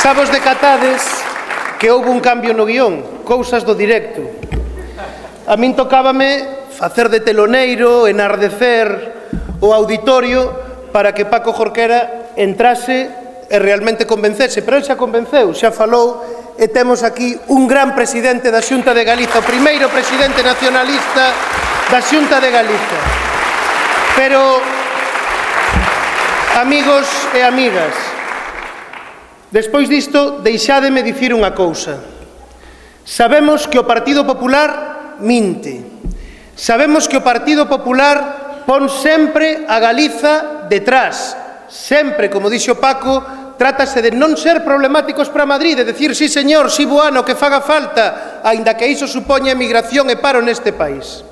Xa vos decatades que houve un cambio no guión, cousas do directo. A min tocábame facer de teloneiro, enardecer o auditorio para que Paco Jorquera entrase e realmente convencese, pero ele xa convenceu, xa falou, e temos aquí un gran presidente da Xunta de Galiza, o primeiro presidente nacionalista da Xunta de Galiza. Pero, amigos e amigas, despois disto, deixádeme dicir unha cousa. Sabemos que o Partido Popular minte. Sabemos que o Partido Popular pon sempre a Galiza detrás. Sempre, como dixo Paco, trátase de non ser problemáticos para Madrid, de decir, sí señor, sí bueno, que faga falta, aínda que iso supoña emigración e paro neste país.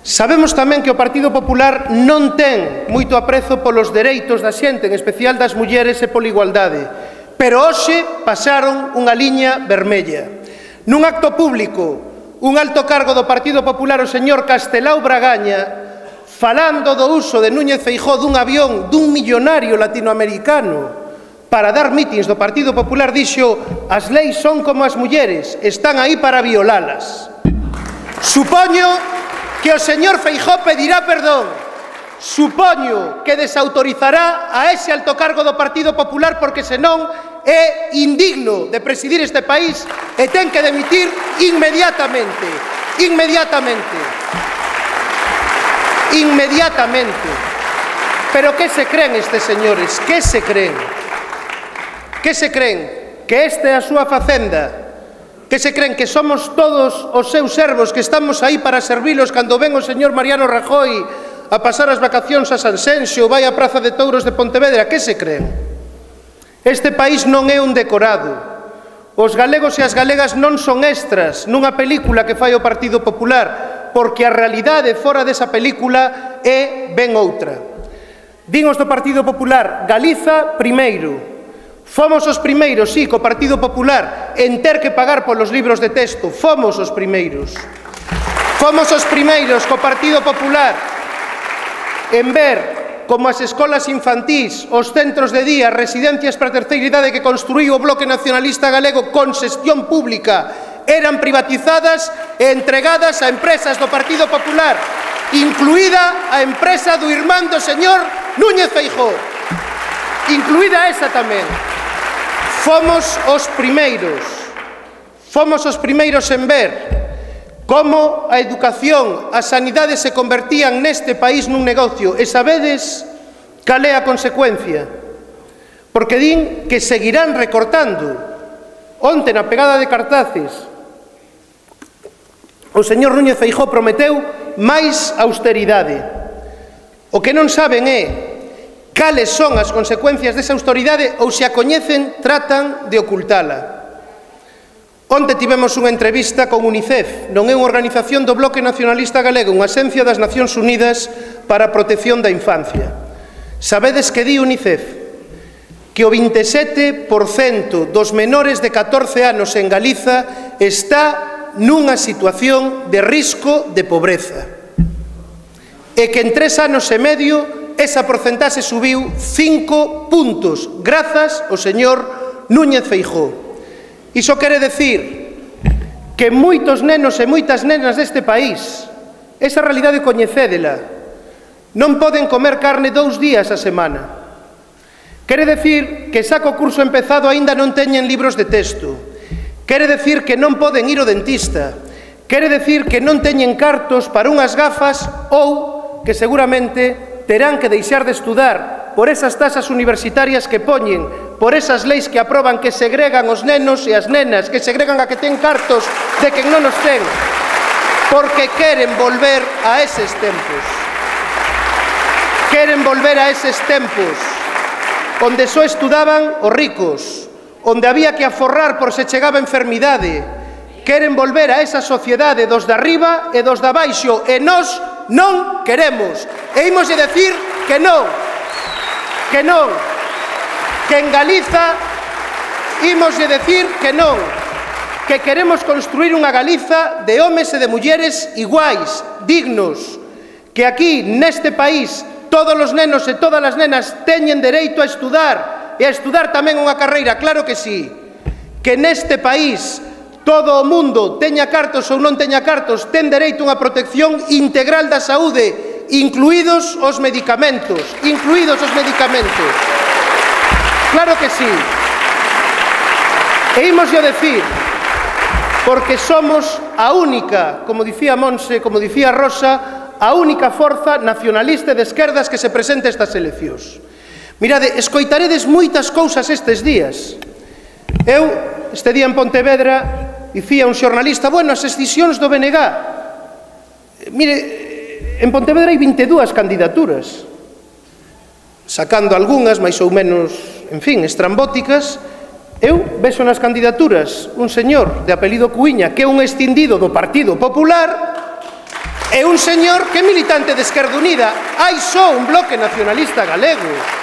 Sabemos tamén que o Partido Popular non ten moito aprezo polos dereitos da xente, en especial das mulleres e pola igualdade, pero hoxe pasaron unha liña vermella. Nun acto público, un alto cargo do Partido Popular, o señor Castelao Bragaña, falando do uso de Núñez Feijóo dun avión dun millonario latinoamericano para dar mítins do Partido Popular, dixo: as leis son como as mulleres, están aí para violalas. Supoño que o señor Feijóo pedirá perdón. Supoño que desautorizará a ese alto cargo do Partido Popular porque senón é indigno de presidir este país e ten que demitir inmediatamente. Inmediatamente. Inmediatamente. Pero que se creen estes señores? Que se creen? Que se creen? Que esta é a súa facenda? Que se creen que somos todos os seus servos, que estamos aí para servilos cando ven o señor Mariano Rajoy a pasar as vacacións a Sanxenxo ou vai á Praza de Touros de Pontevedra? Que se creen? Este país non é un decorado. Os galegos e as galegas non son extras nunha película que fai o Partido Popular, porque a realidade fora desa película é ben outra. Din os do Partido Popular: Galiza primeiro. Fomos os primeiros, sí, co Partido Popular, en ter que pagar polos libros de texto. Fomos os primeiros. Fomos os primeiros co Partido Popular en ver como as escolas infantís, os centros de día, residencias para a terceira idade que construíu o Bloque Nacionalista Galego con xestión pública eran privatizadas e entregadas a empresas do Partido Popular, incluída a empresa do irmán do señor Núñez Feijóo. Incluída esa tamén. Fomos os primeiros en ver como a educación, a sanidade se convertían neste país nun negocio. E sabedes cal é a consecuencia? Porque din que seguirán recortando. Onte, na pegada de cartaces, o señor Núñez Feijóo prometeu máis austeridade. O que non saben é cales son as consecuencias desa austeridade ou se a coñecen tratan de ocultala. Onte tivemos unha entrevista con UNICEF, non é unha organización do Bloque Nacionalista Galego, unha axencia das Nacións Unidas para a protección da infancia. Sabedes que di UNICEF? Que o 27% dos menores de 14 anos en Galiza está nunha situación de risco de pobreza. E que en 3 anos e medio esa porcentaxe subiu 5 puntos, grazas ao señor Núñez Feijóo. Iso quere decir que moitos nenos e moitas nenas deste país, esa realidade coñecédela, non poden comer carne 2 días a semana. Quere decir que xa co curso empezado aínda non teñen libros de texto. Quere decir que non poden ir ao dentista. Quere decir que non teñen cartos para unhas gafas ou que seguramente terán que deixar de estudar por esas tasas universitarias que poñen, por esas leis que aproban que segregan os nenos e as nenas, que segregan a que ten cartos de quen non os ten, porque queren volver a eses tempos. Queren volver a eses tempos onde só estudaban os ricos, onde había que aforrar por se chegaba a enfermidade. Queren volver a esa sociedade dos de arriba e dos de abaixo, e nós non queremos. E imoslle decir que non, que non, que en Galiza imoslle decir que non, que queremos construir unha Galiza de homes e de mulleres iguais, dignos, que aquí, neste país, todos os nenos e todas as nenas teñen dereito a estudar, traballar e a estudar tamén unha carreira, claro que sí. Que neste país todo o mundo, teña cartos ou non teña cartos, ten dereito a unha protección integral da saúde, incluídos os medicamentos, Claro que sí. E ímoslle decir, porque somos a única, como dicía Monse, como dicía Rosa, a única forza nacionalista de esquerdas que se presenta a estas eleccións. Mirade, escoitaredes moitas cousas estes días. Eu, este día en Pontevedra, dicía un xornalista, bueno, as escisións do BNG. Mire, en Pontevedra hai 22 candidaturas, sacando algunhas máis ou menos, en fin, estrambóticas. Eu vexo nas candidaturas un señor de apelido Cuíña que é un extindido do Partido Popular e un señor que é militante de Esquerda Unida. Hai só un bloque nacionalista galego.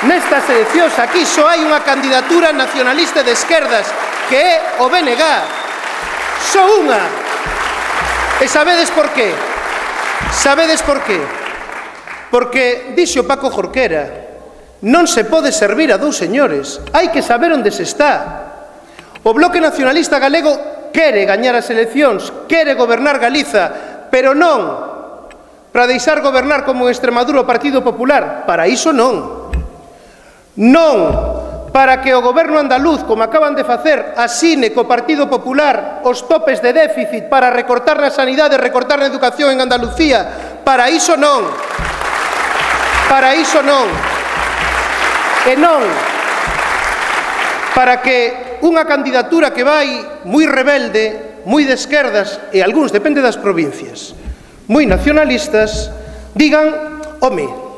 Nestas eleccións aquí só hai unha candidatura nacionalista de esquerdas que é o BNG. Só unha. E sabedes por qué? Sabedes por qué? Porque dixo Paco Jorquera, non se pode servir a dous señores, hai que saber onde se está. O Bloque Nacionalista Galego quere gañar as eleccións, quere gobernar Galiza, pero non para deixar gobernar como en Extremadura o Partido Popular, para iso non. Non para que o goberno andaluz, como acaban de facer, asine co Partido Popular os topes de déficit para recortar na sanidade, recortar na educación en Andalucía, para iso non. Para iso non. E non para que unha candidatura que vai moi rebelde, moi de esquerdas, e algúns, depende das provincias, moi nacionalistas, digan, home,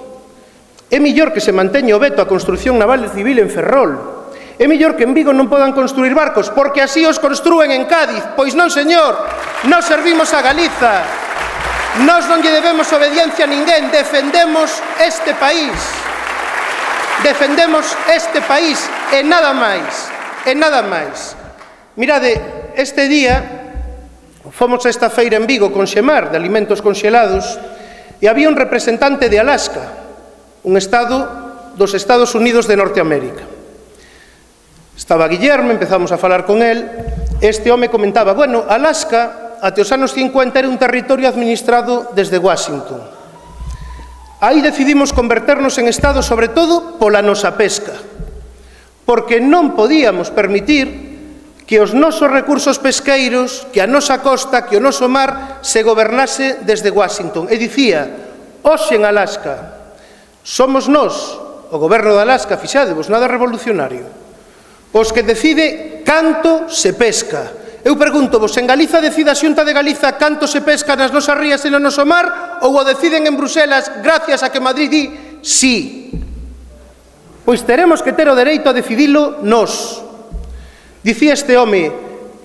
é mellor que se manteña o veto á construción naval e civil en Ferrol, é mellor que en Vigo non podan construir barcos, porque así os construen en Cádiz. Pois non, señor, nós servimos a Galiza, nós non lle debemos obediencia a ninguén, defendemos este país. Defendemos este país e nada máis, e nada máis. Mirade, este día fomos a esta feira en Vigo con Xemar, de alimentos conxelados, e había un representante de Alaska, un estado dos Estados Unidos de Norteamérica. Estaba Guillermo, empezamos a falar con él, este home comentaba, bueno, Alaska, até os anos 50 era un territorio administrado desde Washington. Aí decidimos converternos en Estado, sobre todo, pola nosa pesca, porque non podíamos permitir que os nosos recursos pesqueiros, que a nosa costa, que o noso mar, se gobernase desde Washington. E dicía, hoxe en Alaska, somos nós, o goberno de Alaska, fixadevos, nada revolucionario, os que decide canto se pesca. Eu pergunto-vos, en Galiza decide a Xunta de Galiza canto se pesca nas nosas rías e no noso mar, ou o deciden en Bruselas gracias a que Madrid di sí? Pois teremos que ter o dereito a decidilo nós. Dicía este home,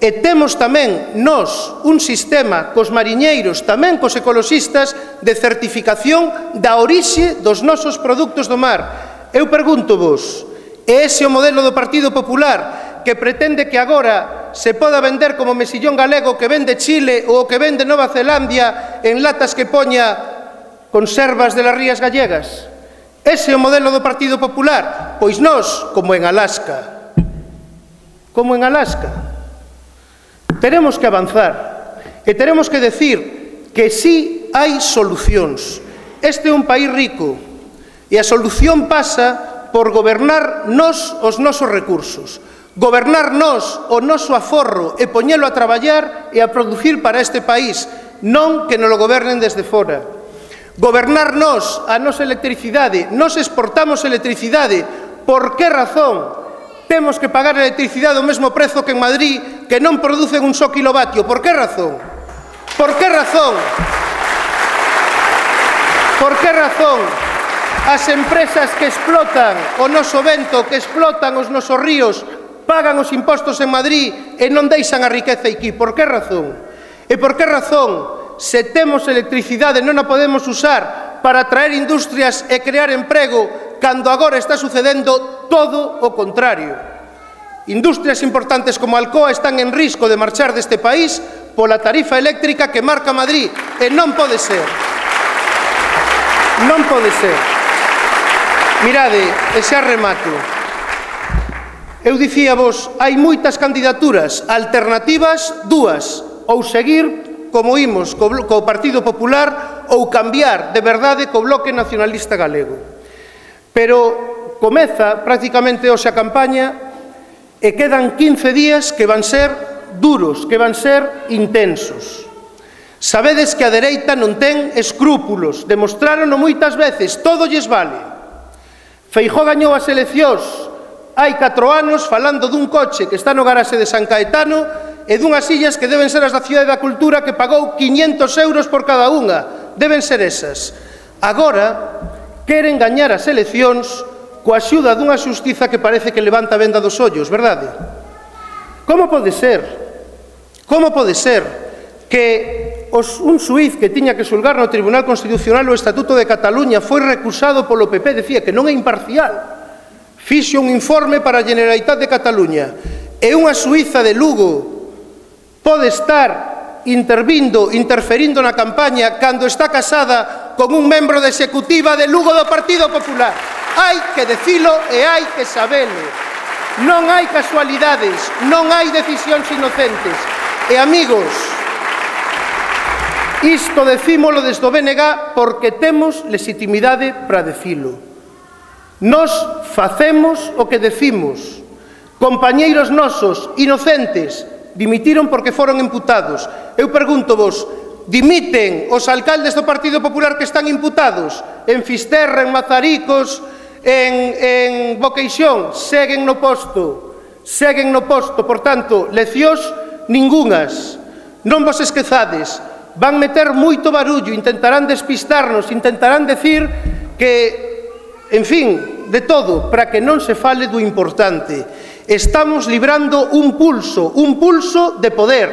e temos tamén nós un sistema cos mariñeiros, tamén cos ecoloxistas, de certificación da orixe dos nosos produtos do mar. Eu pergunto-vos, é ese o modelo do Partido Popular que pretende que agora se poda vender como mesillón galego que vende Chile ou que vende Nova Zelandia en latas que poña conservas de las rías gallegas? Ese é o modelo do Partido Popular? Pois nós, como en Alaska, teremos que avanzar e teremos que decir que sí hai solucións. Este é un país rico e a solución pasa por gobernar nós os nosos recursos, gobernar nós o noso aforro e poñelo a traballar e a producir para este país, non que nos lo gobernen desde fora. Gobernar nós a nosa electricidade, nós exportamos electricidade, por que razón temos que pagar a electricidade ao mesmo prezo que en Madrid, que non producen un só kilovatio? Por que razón? Por que razón? Por que razón as empresas que explotan o noso vento, que explotan os nosos ríos, pagan os impostos en Madrid e non deixan a riqueza aquí? Por que razón? E por que razón, se temos electricidade, non a podemos usar para atraer industrias e crear emprego, cando agora está sucedendo todo o contrario? Industrias importantes como Alcoa están en risco de marchar deste país pola tarifa eléctrica que marca Madrid, e non pode ser. Non pode ser. Mirade, e xa remato. Eu dicíavos, hai moitas candidaturas, alternativas, dúas, ou seguir como imos co Partido Popular ou cambiar de verdade co Bloque Nacionalista Galego. Pero comeza prácticamente hoxe a campaña e quedan 15 días que van ser duros, que van ser intensos. Sabedes que a dereita non ten escrúpulos, demostrárono moitas veces, todo lles vale. Feijóo gañou as eleccións hai 4 anos falando dun coche que está no garaxe de San Caetano e dunhas sillas que deben ser as da Cidade da Cultura que pagou 500 euros por cada unha. Deben ser esas. Agora queren gañar as eleccións coa axuda dunha xustiza que parece que levanta a venda dos ollos, verdade? Como pode ser? Como pode ser que un xuíz que tiña que xulgar no Tribunal Constitucional o Estatuto de Cataluña foi recusado polo PP, decía que non é imparcial, fixo un informe para a Generalitat de Cataluña e unha xuíza de Lugo pode estar interferindo na campaña cando está casada con un membro da executiva de Lugo do Partido Popular. Hai que decilo e hai que sabelo. Non hai casualidades, non hai decisións inocentes. E amigos, isto decímolo desde o BNG porque temos legitimidade para decilo. Nos facemos o que decimos. Compañeiros nosos, inocentes, dimitiron porque foron imputados. Eu pregúntovos, dimiten os alcaldes do Partido Popular que están imputados? En Fisterra, en Mazaricos, en Boqueixón, seguen no posto. Seguen no posto, por tanto, leccións ningunhas. Non vos esquezades, van meter moito barullo, intentarán despistarnos, intentarán decir que, en fin, de todo, para que non se fale do importante. Estamos librando un pulso de poder.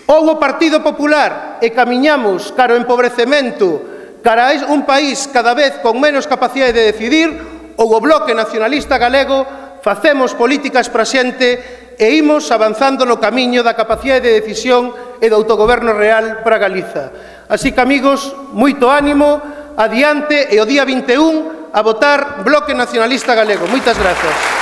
Ou o Partido Popular e camiñamos cara ao empobrecemento, cara a un país cada vez con menos capacidade de decidir, ou o Bloque Nacionalista Galego facemos políticas para xente e imos avanzando no camiño da capacidade de decisión e do autogoberno real para Galiza. Así que, amigos, moito ánimo, adiante e o día 21 a votar Bloque Nacionalista Galego. Moitas grazas.